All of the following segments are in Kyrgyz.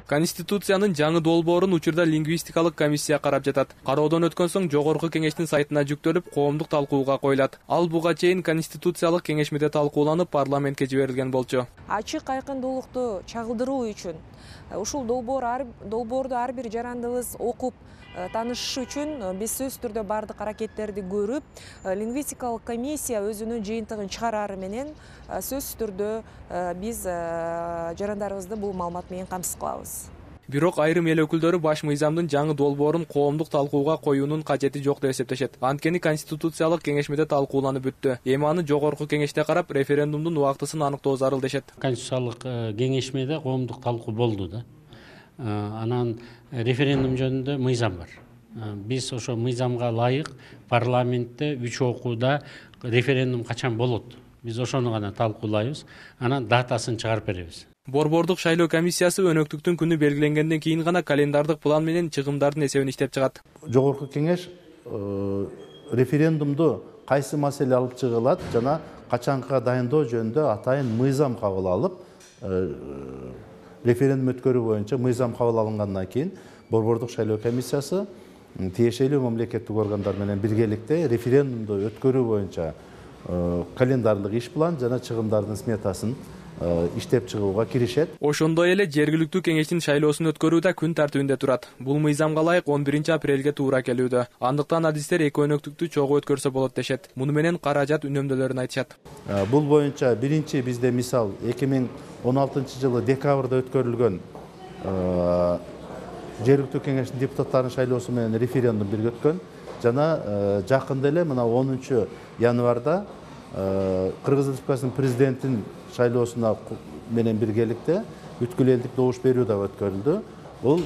Конституциянын жаңы долбоорун учурда лингвистикалык комиссия карап жатат. Кароодон өткөн соң жогорку кеңештин сайтына жүктөлүп, коомдук талкууга коюлат. Ал буга чейин конституциялык кеңешмеде талкууланып, парламентке жиберилген болчу. Ачык айкындуулукту чагылдыруу үчүн ушул долбоорду ар бир жарандыбыз окуп таанышыш үчүн биз сөзсүз түрдө бардык аракеттерди көрүп, лингвистикалык комиссия өзүнүн жыйынтыгын чыгарары менен сөзсүз түрдө биз жарандарыбызды бул маалымат менен камсыз кылабыз. Бирок айрым эл өкүлдөрү баш мыйзамдын жаңы долбоорун коомдук талкууга коюунун кажети жок деп эсептешет. Анткени конституциялык кеңешмеде талкууланып бүттү. Эми аны жогорку кеңеште карап, референдумдун убактысын аныктоо зарыл дешет. Конституциялык кеңешмеде коомдук талкуу болду да. Анан референдум жөнүндө мыйзам бар. Биз ошо мыйзамга ылайык парламентте 3 окууда референдум качан болот? Биз ошону гана талкуулайбыз. Анан датасын чыгарып беребиз. Борбордук шайлоо комиссиясы өнөктүктүн күнү белгиленгенден кийин гана календардык план менен чыгымдардын эсебин иштеп чыгат. Жогорку кеңеш референдумду кайсы маселе алып чыгылат жана качанга дайындоо жөнүндө атайын мыйзам кабыл алып, референдум өткөрүү боюнча мыйзам кабыл алынгандан кийин Борбордук шайлоо комиссиясы тиешелүү мамлекеттик органдар менен биргеликте референдумду өткөрүү боюнча календарлык иш план жана чыгымдардын сметасын иштеп чыгууга киришет. Ошондой эле жергиликтүү кеңештин шайлоосун өткөрүү да күн тартибинде турат. Бул мыйзамга ылайык 11 апрелге туура келүүдө. Андыктан адистер эки өнөктүктү чогуу өткөрсө болот дешет. Муну менен каражат үнөмдөлөрүн айтышат. Бул боюнча биринчи бизде мисал 2016-жылы декабрда өткөрүлгөн жергиликтүү кеңештин депутаттарынын шайлоосу менен референдум бирге өткөн жана жакында эле мына 10 январда Кыргыз Республикасынын президентин шайлоосуна менен биргеликте бүткүл элдик добуш берүү да өткөрүлдү. Бул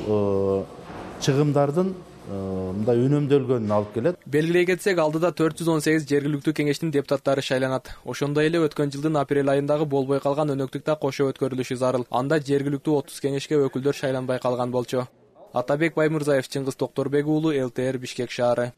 чыгымдардын мындай үнөмдөлгөнүн алып келет. Белгилей кетсек, алдыда 418 жергиликтүү кеңештин депутаттары шайланат. Ошондой эле өткөн жылдын апрель айындагы болбой калган өнөктүк да кошо өткөрүлүшү зарыл. Анда жергиликтүү 30 кеңешке өкүлдөр шайланбай калган болчу. Атабек Баймырзаев, Чыңгыз Токторбек уулу, ЛТР, Бишкек шаары.